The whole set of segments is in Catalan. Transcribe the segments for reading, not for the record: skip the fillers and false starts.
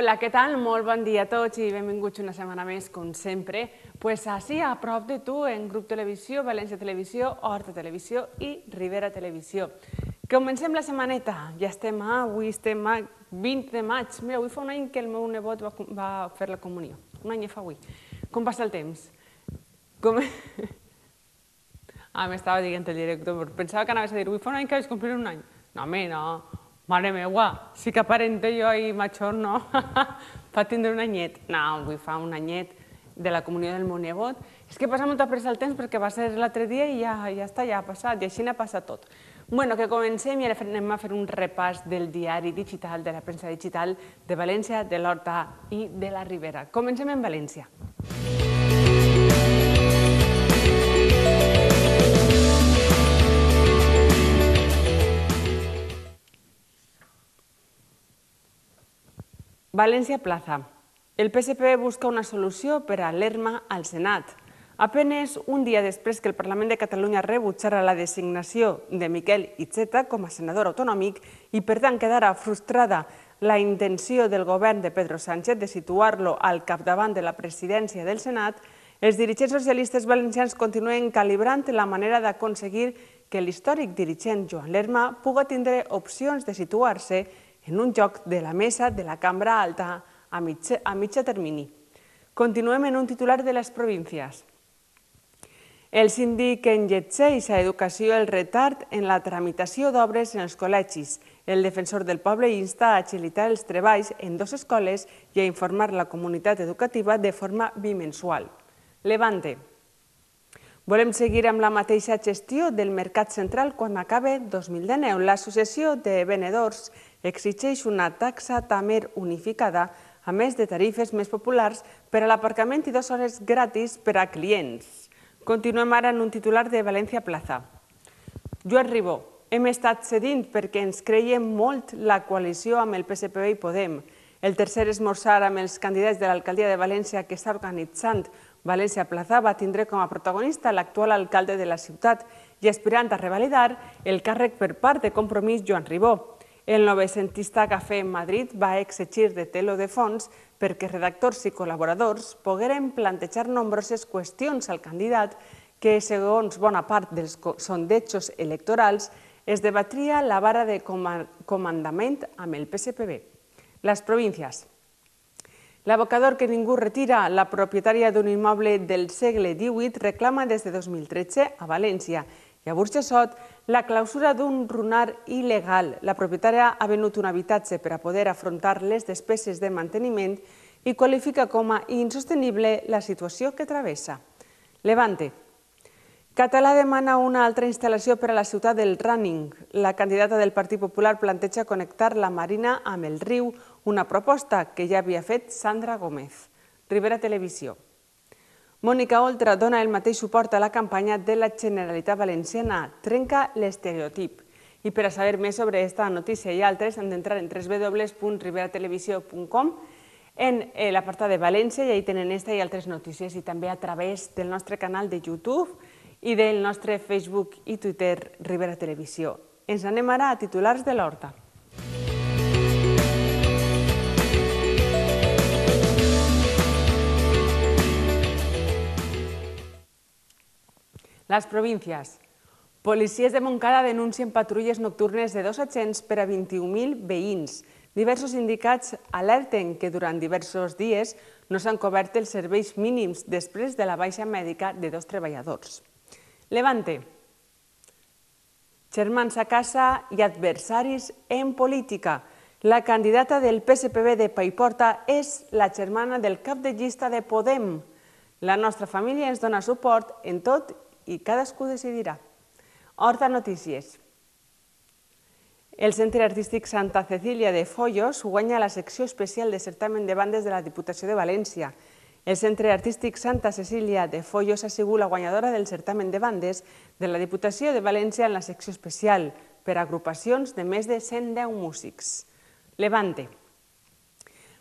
Hola, què tal? Molt bon dia a tots i benvinguts una setmana més, com sempre, així a prop de tu, en Grup Televisió, València Televisió, Horta Televisió i Ribera Televisió. Comencem la setmaneta, avui estem a 20 de maig. Mira, avui fa un any que el meu nebot va fer la comunió, un any fa avui. Com passa el temps? M'estava dient el director, pensava que anaves a dir, avui fa un any que vaig complir un any. No, home, no. Mare meua, sí que aparente jo i major, no? Fa tindre un anyet. No, avui fa un anyet de la comunió del meu nebot. És que passa molta pressa el temps perquè va ser l'altre dia i ja està, ja ha passat, i així n'ha passat tot. Bueno, que comencem i ara anem a fer un repàs del diari digital, de la premsa digital de València, de l'Horta i de la Ribera. Comencem en València. València Plaza. El PSPV busca una solució per a l'ERMA al Senat. Apenas un dia després que el Parlament de Catalunya rebutjara la designació de Miquel Iceta com a senador autonòmic i, per tant, quedara frustrada la intenció del govern de Pedro Sánchez de situar-lo al capdavant de la presidència del Senat, els dirigents socialistes valencians continuen calibrant la manera d'aconseguir que l'històric dirigent Joan Lerma pugui tindre opcions de situar-se en un joc de la mesa de la Cambra Alta a mitjà termini. Continuem en un titular de les províncies. El síndic enlletgeix a Educació el retard en la tramitació d'obres en els col·legis. El defensor del poble insta a agilitar els treballs en 2 escoles i a informar la comunitat educativa de forma bimensual. Levante. Volem seguir amb la mateixa gestió del mercat central quan acabe 2019. L'Associació de Venedors exigeix una taxa TAMER unificada, a més de tarifes més populars per a l'aparcament i 2 hores gratis per a clients. Continuem ara en un titular de València Plaza. Joan Ribó. Hem estat cedint perquè ens creiem molt la coalició amb el PSPV i Podem. El tercer esmorzar amb els candidats de l'alcaldia de València que està organitzant València Plaza va tindre com a protagonista l'actual alcalde de la ciutat i aspirant a revalidar el càrrec per part de Compromís Joan Ribó. El novecentista Cafè Madrid va exigir de telo de fons perquè redactors i col·laboradors pogueren plantejar nombroses qüestions al candidat que, segons bona part dels sondejos electorals, es debatria la vara de comandament amb el PSPV. Les províncies. L'abocador que ningú retira, la propietària d'un immoble del segle XVIII, reclama des de 2013 a València i a Burjassot la clausura d'un runar il·legal. La propietària ha venut un habitatge per a poder afrontar les despeses de manteniment i qualifica com a insostenible la situació que travessa. Levante. Català demana una altra instal·lació per a la ciutat del Running. La candidata del Partit Popular planteja connectar la Marina amb el riu, una proposta que ja havia fet Sandra Gómez. Ribera Televisió. Mònica Oltra dona el mateix suport a la campanya de la Generalitat Valenciana, trenca l'estereotip. I per a saber més sobre aquesta notícia i altres han d'entrar en www.riberatelevisió.com en l'apartat de València i ahí tenen aquesta i altres notícies i també a través del nostre canal de YouTube i del nostre Facebook i Twitter Ribera Televisió. Ens anem ara a titulars de l'Horta. Les províncies. Policies de Montcada denuncien patrulles nocturnes de 2 agents per a 21.000 veïns. Diversos sindicats alerten que durant diversos dies no s'han cobert els serveis mínims després de la baixa mèdica de 2 treballadors. Levante. Germans a casa i adversaris en política. La candidata del PSPV de Paiporta és la germana del cap de llista de Podem. La nostra família ens dona suport en tot i cadascú decidirà. Horta Notícies. El Centre Artístic Santa Cecília de Foios guanya la secció especial de certamen de bandes de la Diputació de València. El Centre Artístic Santa Cecília de Foios ha sigut la guanyadora del certamen de bandes de la Diputació de València en la secció especial per a agrupacions de més de 110 músics. Levante.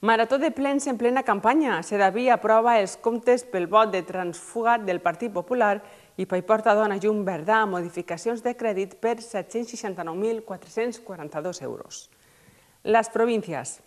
Marató de plens en plena campanya. Sedaví aprova els comptes pel vot de transfugat del Partit Popular i Paiporta dona llum verda a modificacions de crèdit per 769.442 euros. Les províncies.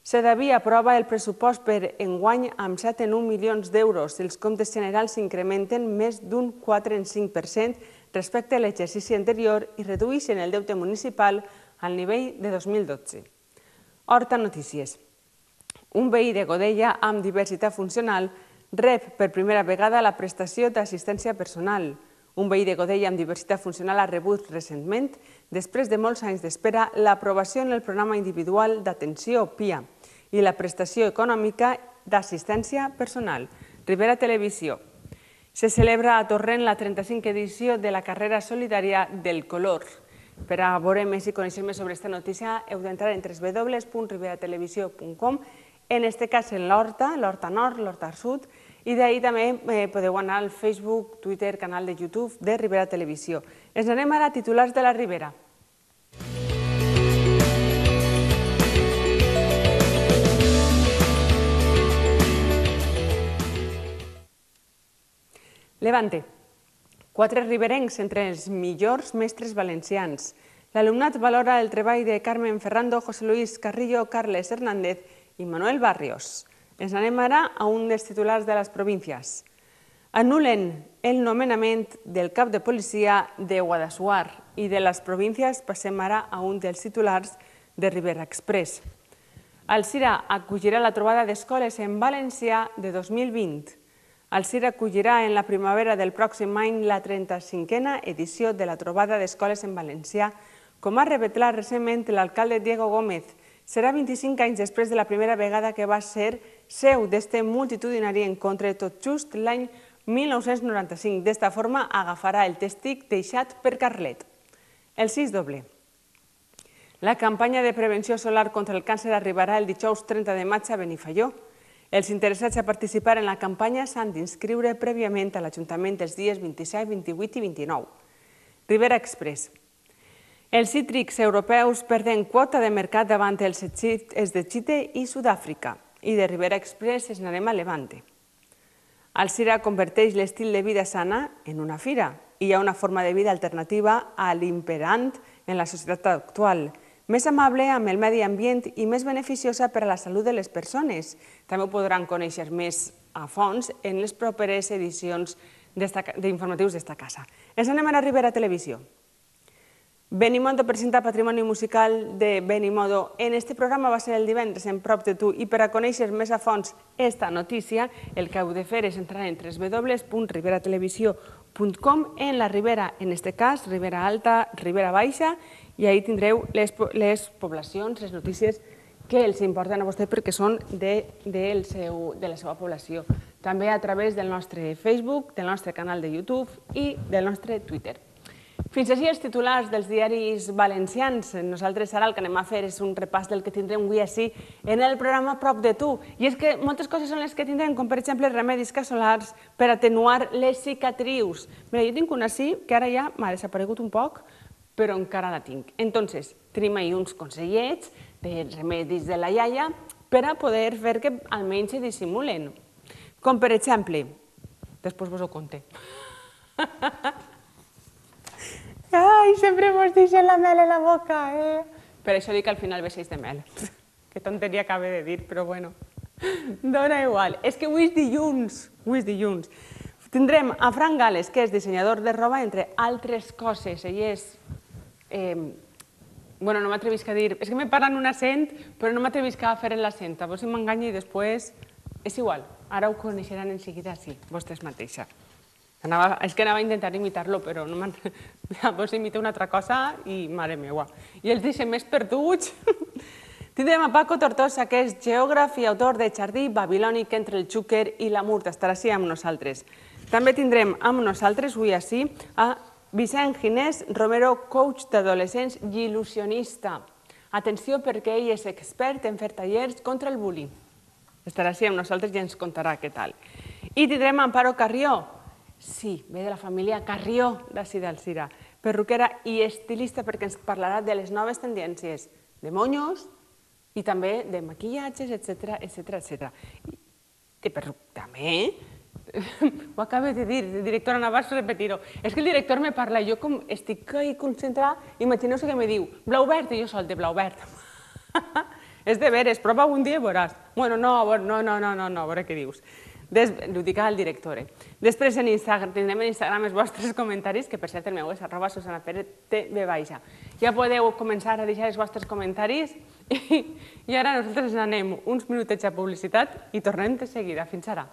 Sedaví aprova el pressupost per enguany amb 7,1 milions d'euros. Els comptes generals s'incrementen més d'un 4,5% respecte a l'exercici anterior i redueixen el deute municipal al nivell de 2012. Horta Notícies. Un veí de Godella amb diversitat funcional rep per primera vegada la prestació d'assistència personal. Un veí de Godella amb diversitat funcional ha rebut recentment, després de molts anys d'espera, l'aprovació en el programa individual d'atenció PIA i la prestació econòmica d'assistència personal. Ribera Televisió. Se celebra a Torrent la 35a edició de la carrera solidària del color. Per a veure més i conèixer més sobre aquesta notícia heu d'entrar en www.riberatelevisió.com, en aquest cas en l'Horta Nord, l'Horta Sud, i d'ahir també podeu anar al Facebook, Twitter, canal de YouTube de Ribera Televisió. Ens anem ara a titulars de la Ribera. Levante. 4 riberencs entre els millors mestres valencians. L'alumnat valora el treball de Carmen Ferrando, José Luis Carrillo, Carles Hernández i Manuel Barrios. Ens anem ara a un dels titulars de les províncies. Anulen el nomenament del cap de policia de Guadassuar i de les províncies passem ara a un dels titulars de Ribera Express. Alzira acollirà la trobada d'escoles en valencià de 2020. Alzira acollirà en la primavera del pròxim any la 35a edició de la trobada d'escoles en valencià, com ha revelat recentment l'alcalde Diego Gómez. Serà 25 anys després de la primera vegada que va ser seu d'este multitudinari encontre, tot just l'any 1995. D'esta forma agafarà el tèstic deixat per Carlet. El 6 doble. La campanya de prevenció solar contra el càncer arribarà el dijous 30 de maig a Benifaió. Els interessats a participar en la campanya s'han d'inscriure prèviament a l'Ajuntament els dies 27, 28 i 29. Ribera Express. Els cítrics europeus perden quota de mercat davant els de Xile i Sud-àfrica. I de Ribera Express ens anem a Levante. Alzira converteix l'estil de vida sana en una fira. Hi ha una forma de vida alternativa a l'imperant en la societat actual, més amable amb el medi ambient i més beneficiosa per a la salut de les persones. També ho podran conèixer més a fons en les properes edicions d'informatius d'esta casa. Ens anem a la Ribera Televisió. Benimodo presenta Patrimoni Musical de Benimodo. En este programa va ser el divendres en Prop de tu, i per a conèixer més a fons esta notícia, el que heu de fer és entrar en www.riberatelevisió.com, en la Ribera, en aquest cas, Ribera Alta, Ribera Baixa, i ahí tindreu les poblacions, les notícies que els importen a vostè perquè són de la seva població. També a través del nostre Facebook, del nostre canal de YouTube i del nostre Twitter. Fins així els titulars dels diaris valencians. Nosaltres ara el que anem a fer és un repàs del que tindrem avui així en el programa Prop de tu. I és que moltes coses són les que tindrem, com per exemple remedis casolars per atenuar les cicatrius. Mira, jo tinc una així que ara ja m'ha desaparegut un poc, però encara la tinc. Entonces, tenim ahí uns consellets de remedis de la iaia per a poder fer que almenys se dissimulen. Com per exemple, després vos ho conté. Ai, sempre mos deixen la mel a la boca, eh? Per això dic que al final veixeix de mel. Que tonteria acabe de dir, però bueno, dona igual. És que avui és dilluns, Tindrem a Fran Gales, que és dissenyador de roba, entre altres coses. Ell és... Bueno, no m'atrevisc a dir... És que me parlen un accent, però no m'atrevisc a fer l'accent. A vos si m'enganya i després... És igual, ara ho coneixeran en seguida, sí, vostès mateixa. És que anava a intentar imitar-lo, però vos imita una altra cosa i mare meua. I els deixem més perduts. Tindrem a Paco Tortosa, que és geògraf i autor de Jardí babilònic entre el Xúquer i la Murta. Estarà així amb nosaltres. També tindrem amb nosaltres, avui així, a Vicent Ginés Romero, coach d'adolescents i il·lusionista. Atenció, perquè ell és expert en fer tallers contra el bullying. Estarà així amb nosaltres i ens contarà què tal. I tindrem Amparo Carrió. Sí, ve de la família Carrió d'ací d'Alzira, perruquera i estilista, perquè ens parlarà de les noves tendències de monyos i també de maquillatges, etc. De també, ho acabo de dir, directora Navàs, repetir-ho. És que el director me parla, jo com estic concentrada, imagineu-se que me diu blau verd i jo sol de blau verd. És de veres, prova un dia i veuràs. Bueno, no, a veure què dius. Ho dic al director. Després tindrem en Instagram els vostres comentaris, que per cert el meu és @susanapérez_tv. Ja podeu començar a deixar els vostres comentaris i ara nosaltres anem uns minutets a publicitat i tornem de seguida. Fins ara.